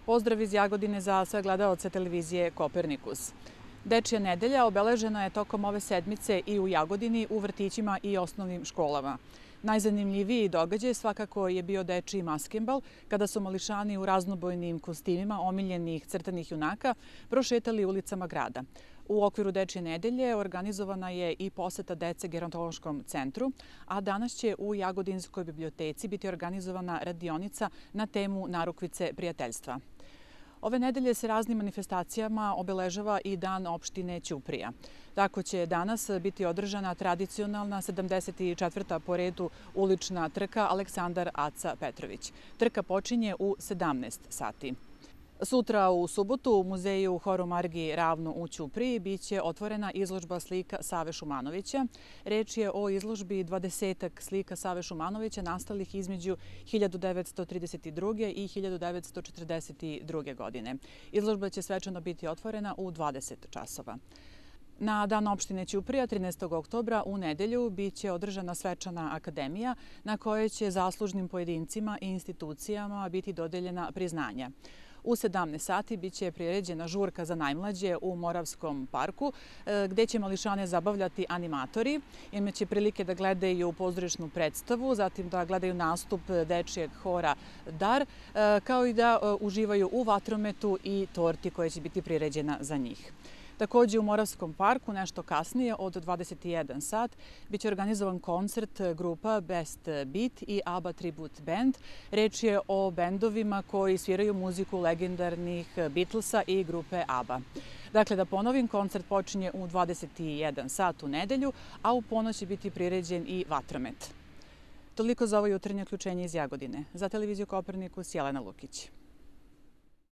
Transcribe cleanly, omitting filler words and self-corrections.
Pozdrav iz Jagodine za sve gledaoce televizije Kopernikus. Dečija nedelja obeležena je tokom ove sedmice i u Jagodini, u vrtićima i osnovnim školama. Najzanimljiviji događaj svakako je bio dečiji maskembal, kada su mališani u raznobojnim kostimima omiljenih crtanih junaka prošetali ulicama grada. U okviru Dečije nedelje organizovana je i poseta dece gerontološkom centru, a danas će u Jagodinskoj biblioteci biti organizovana radionica na temu narukvice prijateljstva. Ove nedelje se raznim manifestacijama obeležava i Dan opštine Ćuprija. Tako će danas biti održana tradicionalna 74. po redu ulična trka Aleksandar Aca Petrović. Trka počinje u 17 sati. Sutra u subotu u muzeju Horu Margi Ravno u Ćupriji biće otvorena izložba slika Save Šumanovića. Reč je o izložbi 20-ak slika Save Šumanovića nastalih između 1932. i 1942. godine. Izložba će svečano biti otvorena u 20 časova. Na Dan opštine Ćuprija 13. oktobra u nedelju biće održana svečana akademija na kojoj će zaslužnim pojedincima i institucijama biti dodeljena priznanja. U 17 sati biće priređena žurka za najmlađe u Moravskom parku, gde će mališane zabavljati animatori. Imaće prilike da gledaju pozorišnu predstavu, zatim da gledaju nastup dečijeg hora Dar, kao i da uživaju u vatrometu i torti koja će biti priređena za njih. Takođe u Moravskom parku nešto kasnije od 21 sat biće organizovan koncert grupa Best Beat i ABBA Tribute Band. Reč je o bendovima koji sviraju muziku legendarnih Beatlesa i grupe ABBA. Dakle, da ponovim, koncert počinje u 21 sat u nedelju, a u ponoć će biti priređen i vatromet. Toliko za ovo jutarnje uključenje iz Jagodine. Za televiziju Kopernikus, Jelena Lukić.